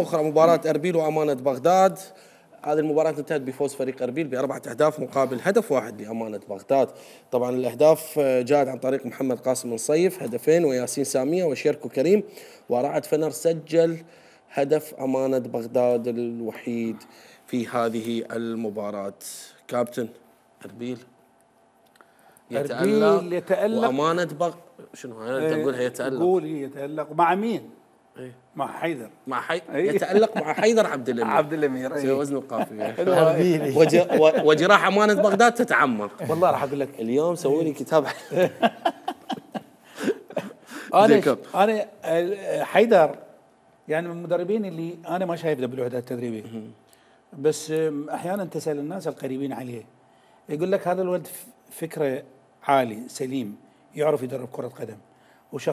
اخرى مباراة اربيل وامانة بغداد. هذه المباراة انتهت بفوز فريق اربيل ب4 أهداف مقابل هدف واحد لامانة بغداد. طبعا الاهداف جاءت عن طريق محمد قاسم نصيف هدفين، وياسين سامية وشيركو كريم، ورعد فنر سجل هدف امانة بغداد الوحيد في هذه المباراة. كابتن اربيل يتألق وامانة شنو انت تقولها يتألق؟ قول يتألق مع مين؟ مع حيدر. يتألق مع حيدر عبد الامير. عبد الامير سوي وزن القافية. وجراح امانة بغداد تتعمق. والله راح اقول لك اليوم سووا لي كتاب. انا حيدر يعني من المدربين اللي انا ما شايف له بالوحدات التدريبيه، بس احيانا تسال الناس القريبين عليه يقول لك هذا الولد فكره عالي سليم، يعرف يدرب كره قدم وشخص